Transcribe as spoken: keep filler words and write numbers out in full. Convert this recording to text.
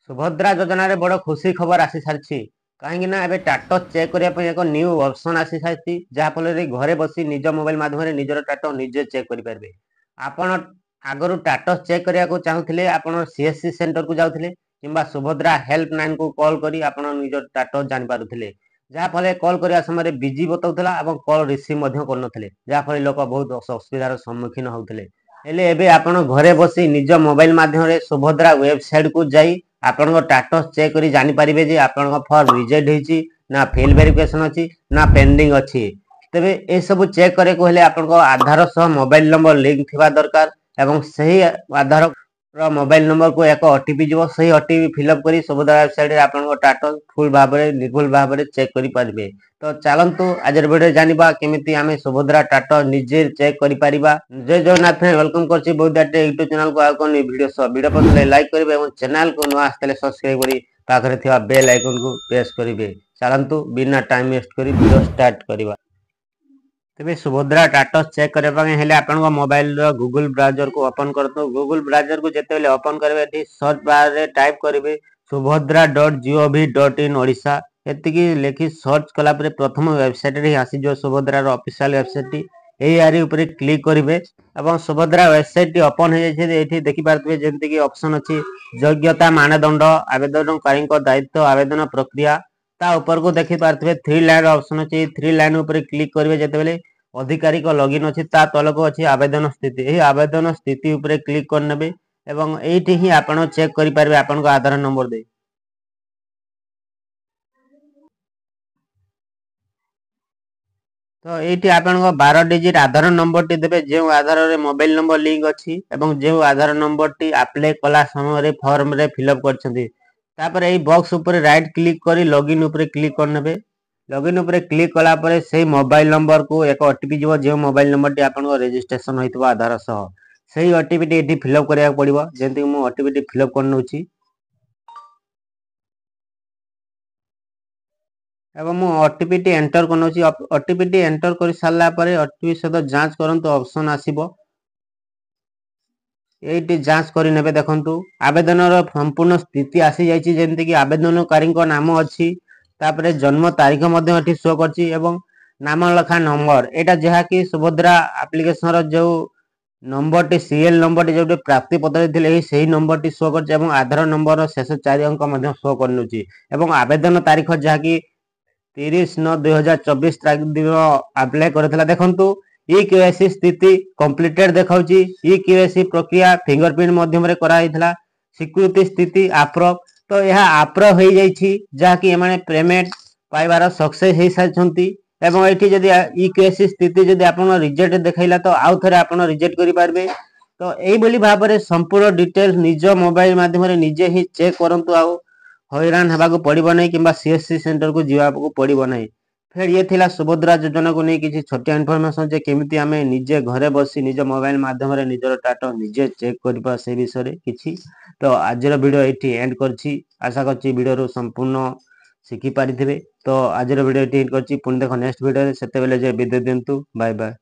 ସୁଭଦ୍ରା ଯୋଜନାରେ ବଡ଼ ଖୁସି ଖବର ଆସିସାରିଛି କାହିଁକି ନା ଏବେ ଷ୍ଟାଟସ୍ ଚେକ୍ କରିବା ପାଇଁ ଏକ ନ୍ୟୁ ଅପସନ୍ ଆସିସାରିଛି ଯାହାଫଳରେ ଘରେ ବସି ନିଜ ମୋବାଇଲ ମାଧ୍ୟମରେ ନିଜର ଷ୍ଟାଟସ୍ ନିଜେ ଚେକ୍ କରିପାରିବେ ଆପଣ ଆଗରୁ ଷ୍ଟାଟସ୍ ଚେକ୍ କରିବାକୁ ଚାହୁଁଥିଲେ ଆପଣ ସିଏସସି ସେଣ୍ଟରକୁ ଯାଉଥିଲେ କିମ୍ବା ସୁଭଦ୍ରା ହେଲ୍ପ ଲାଇନକୁ କଲ୍ କରି ଆପଣ ନିଜ ଷ୍ଟାଟସ୍ ଜାଣିପାରୁଥିଲେ ଯାହାଫଳରେ କଲ୍ କରିବା ସମୟରେ ବିଜି ବତାଉଥିଲା ଏବଂ କଲ୍ ରିସିଭ୍ ମଧ୍ୟ କରୁନଥିଲେ ଯାହାଫଳରେ ଲୋକ ବହୁତ ଅସୁବିଧାର ସମ୍ମୁଖୀନ ହେଉଥିଲେ ହେଲେ ଏବେ ଆପଣ ଘରେ ବସି ନିଜ ମୋବାଇଲ ମାଧ୍ୟମରେ ସୁଭଦ୍ରା ୱେବସାଇଟକୁ ଯାଇ ଆପଣଙ୍କ ଷ୍ଟାଟସ୍ ଚେକ୍ କରି ଜାଣିପାରିବେ ଯେ ଆପଣଙ୍କ ଫର୍ମ ରିଜେକ୍ଟ ହେଇଛି ନା ଫେଲ୍ ଭେରିଫିକେସନ ଅଛି ନା ପେଣ୍ଡିଂ ଅଛି ତେବେ ଏସବୁ ଚେକ୍ କରିବାକୁ ହେଲେ ଆପଣଙ୍କ ଆଧାର ସହ ମୋବାଇଲ ନମ୍ବର ଲିଙ୍କ ଥିବା ଦରକାର ଏବଂ ସେହି ଆଧାର ର ମୋବାଇଲ ନମ୍ବରକୁ ଏକ ଓଟିପି ଯିବ ସେହି ଓଟିପି ଫିଲ୍ଅପ୍ କରି ସୁଭଦ୍ରା ୱେବସାଇଟରେ ଆପଣଙ୍କ ଷ୍ଟାଟସ୍ ଫୁଲ୍ ଭାବରେ ନିର୍ଭୁଲ ଭାବରେ ଚେକ୍ କରିପାରିବେ ତ ଚାଲନ୍ତୁ ଆଜିର ଭିଡ଼ିଓ ଜାଣିବା କେମିତି ଆମେ ସୁଭଦ୍ରା ଷ୍ଟାଟସ୍ ନିଜେ ଚେକ୍ କରିପାରିବା ଜୟ ଜଗନ୍ନାଥ welcome କରୁଛି ବହୁତ ୟୁଟ୍ୟୁବ ଚ୍ୟାନେଲକୁ ଆଉ କଣ ଭିଡ଼ିଓ ସହ ଭିଡ଼ିଓ ପସନ୍ଦ ଲାଇକ୍ କରିବେ ଏବଂ ଚ୍ୟାନେଲକୁ ନୂଆ ଆସିଥିଲେ ସବସ୍କ୍ରାଇବ କରି ପାଖରେ ଥିବା ବେଲ୍ ଆଇକନକୁ ପ୍ରେସ୍ କରିବେ ଚାଲନ୍ତୁ ବିନା ଟାଇମ୍ ୱେଷ୍ଟ କରି ଭିଡ଼ିଓ ଷ୍ଟାର୍ଟ କରିବା ତେବେ ସୁଭଦ୍ରା ଷ୍ଟାଟସ୍ ଚେକ୍ କରିବା ପାଇଁ ହେଲେ ଆପଣଙ୍କ ମୋବାଇଲର ଗୁଗୁଲ ବ୍ରାଉଜରକୁ ଓପନ୍ କରନ୍ତୁ ଗୁଗୁଲ ବ୍ରାଉଜରକୁ ଯେତେବେଳେ ଓପନ୍ କରିବେ ଏଠି ସର୍ଚ୍ଚ ବାରରେ ଟାଇପ୍ କରିବେ Subhadra dot GOV dot in Odisha ଏତିକି ଲେଖି ସର୍ଚ୍ଚ କଲା ପରେ ପ୍ରଥମ ୱେବସାଇଟରେ ହିଁ ଆସିଯିବ ସୁଭଦ୍ରାର ଅଫିସିଆଲ ୱେବସାଇଟଟି ଏଇ ଆରି ଉପରେ କ୍ଲିକ୍ କରିବେ ଏବଂ ସୁଭଦ୍ରା ୱେବସାଇଟଟି ଓପନ୍ ହେଇଯାଇଛି ଏଇଠି ଦେଖିପାରୁଥିବେ ଯେମିତିକି ଅପସନ୍ ଅଛି ଯୋଗ୍ୟତା ମାନଦଣ୍ଡ ଆବେଦନକାରୀଙ୍କ ଦାୟିତ୍ୱ ଆବେଦନ ପ୍ରକ୍ରିୟା ତା ଉପରକୁ ଦେଖିପାରୁଥିବେ ଥ୍ରୀ ଲାଇନ୍ ଅପସନ୍ ଅଛି ଥ୍ରୀ ଲାଇନ୍ ଉପରେ କ୍ଲିକ୍ କରିବେ ଯେତେବେଳେ ଅଧିକାରୀଙ୍କ ଲଗଇନ୍ ଅଛି ତା ତଳକୁ ଅଛି ଆବେଦନ ସ୍ଥିତି ଏହି ଆବେଦନ ସ୍ଥିତି ଉପରେ କ୍ଲିକ୍ କରିନେବେ ଏବଂ ଏଇଠି ହିଁ ଆପଣ ଚେକ୍ କରିପାରିବେ ଆପଣଙ୍କ ଆଧାର ନମ୍ବର ଦେଇ ତ ଏଇଠି ଆପଣଙ୍କ ବାର ଡିଜିଟ୍ ଆଧାର ନମ୍ବରଟି ଦେବେ ଯେଉଁ ଆଧାରରେ ମୋବାଇଲ ନମ୍ବର ଲିଙ୍କ ଅଛି ଏବଂ ଯେଉଁ ଆଧାର ନମ୍ବରଟି ଆପ୍ଲାଏ କଲା ସମୟରେ ଫର୍ମରେ ଫିଲ୍ଅପ୍ କରିଛନ୍ତି ତାପରେ ଏଇ ବକ୍ସ ଉପରେ ରାଇଟ୍ କ୍ଲିକ୍ କରି ଲଗଇନ୍ ଉପରେ କ୍ଲିକ୍ କରିନେବେ ଲଗଇନ୍ ଉପରେ କ୍ଲିକ୍ କଲା ପରେ ସେଇ ମୋବାଇଲ ନମ୍ବରକୁ ଏକ ଓଟିପି ଯିବ ଯେଉଁ ମୋବାଇଲ ନମ୍ବରଟି ଆପଣଙ୍କ ରେଜିଷ୍ଟ୍ରେସନ ହୋଇଥିବ ଆଧାର ସହ ସେଇ ଓଟିପିଟି ଏଠି ଫିଲ୍ଅପ୍ କରିବାକୁ ପଡ଼ିବ ଯେମିତିକି ମୁଁ ଓଟିପିଟି ଫିଲ୍ଅପ୍ କରିନେଉଛି ଏବଂ ମୁଁ ଓଟିପିଟି ଏଣ୍ଟର କରିନେଉଛି ଓଟିପିଟି ଏଣ୍ଟର କରି ସାରିଲା ପରେ ଓଟିପି ସହିତ ଯାଞ୍ଚ କରନ୍ତୁ ଅପସନ୍ ଆସିବ ଏଇଠି ଯାଞ୍ଚ କରିନେବେ ଦେଖନ୍ତୁ ଆବେଦନର ସମ୍ପୂର୍ଣ୍ଣ ସ୍ଥିତି ଆସିଯାଇଛି ଯେମିତିକି ଆବେଦନକାରୀଙ୍କ ନାମ ଅଛି ତାପରେ ଜନ୍ମ ତାରିଖ ମଧ୍ୟ ଏଠି ଶୋ କରିଛି ଏବଂ ନାମ ଲେଖା ନମ୍ବର ଏଇଟା ଯାହାକି ସୁଭଦ୍ରା ଆପ୍ଲିକେସନର ଯେଉଁ ନମ୍ବରଟି ସିରିଏଲ ନମ୍ବରଟି ଯେଉଁଠି ପ୍ରାପ୍ତି ପତ୍ରରେ ଥିଲେ ଏହି ସେହି ନମ୍ବରଟି ଶୋ କରିଛି ଏବଂ ଆଧାର ନମ୍ବରର ଶେଷ ଚାରି ଅଙ୍କ ମଧ୍ୟ ଶୋ କରିନେଉଛି ଏବଂ ଆବେଦନ ତାରିଖ ଯାହାକି ତିରିଶ ନଅ ଦୁଇ ହଜାର ଚବିଶ ତାରିଖ ଦିନ ଆପ୍ଲାଏ କରିଥିଲା ଦେଖନ୍ତୁ ଇ କେୱାଇସି ସ୍ଥିତି କମ୍ପ୍ଲିଟେଡ୍ ଦେଖାଉଛି ଇ କେୱାଇସି ପ୍ରକ୍ରିୟା ଫିଙ୍ଗର ପ୍ରିଣ୍ଟ ମାଧ୍ୟମରେ କରାଯାଇଥିଲା ସ୍ୱୀକୃତି ସ୍ଥିତି ଆପ୍ରୁଭ୍ ତ ଏହା ଆପ୍ରୁଭ୍ ହେଇଯାଇଛି ଯାହାକି ଏମାନେ ପେମେଣ୍ଟ ପାଇବାର ସକ୍ସେସ୍ ହେଇସାରିଛନ୍ତି ଏବଂ ଏଠି ଯଦି ଇ କେୱାଇସି ସ୍ଥିତି ଯଦି ଆପଣ ରିଜେକ୍ଟ ଦେଖାଇଲା ତ ଆଉ ଥରେ ଆପଣ ରିଜେକ୍ଟ କରିପାରିବେ ତ ଏଇଭଳି ଭାବରେ ସମ୍ପୂର୍ଣ୍ଣ ଡିଟେଲ୍ସ ନିଜ ମୋବାଇଲ ମାଧ୍ୟମରେ ନିଜେ ହିଁ ଚେକ୍ କରନ୍ତୁ ଆଉ ହଇରାଣ ହେବାକୁ ପଡ଼ିବ ନାହିଁ କିମ୍ବା ସିଏସସି ସେଣ୍ଟରକୁ ଯିବାକୁ ପଡ଼ିବ ନାହିଁ ଫେର ଇଏ ଥିଲା ସୁଭଦ୍ରା ଯୋଜନାକୁ ନେଇ କିଛି ଛୋଟିଆ ଇନଫର୍ମେସନ ଯେ କେମିତି ଆମେ ନିଜେ ଘରେ ବସି ନିଜ ମୋବାଇଲ ମାଧ୍ୟମରେ ନିଜର ଷ୍ଟାଟସ୍ ନିଜେ ଚେକ୍ କରିବା ସେ ବିଷୟରେ କିଛି ତ ଆଜିର ଭିଡ଼ିଓ ଏଇଠି ଏଣ୍ଡ କରିଛି ଆଶା କରୁଛି ଭିଡ଼ିଓରୁ ସମ୍ପୂର୍ଣ୍ଣ ଶିଖିପାରିଥିବେ ତ ଆଜିର ଭିଡ଼ିଓ ଏଇଠି ଏଣ୍ଡ କରିଛି ପୁଣି ଦେଖ ନେକ୍ସଟ ଭିଡ଼ିଓରେ ସେତେବେଳେ ଯେ ବିଦାୟ ଦିଅନ୍ତୁ ବାଏ ବାଏ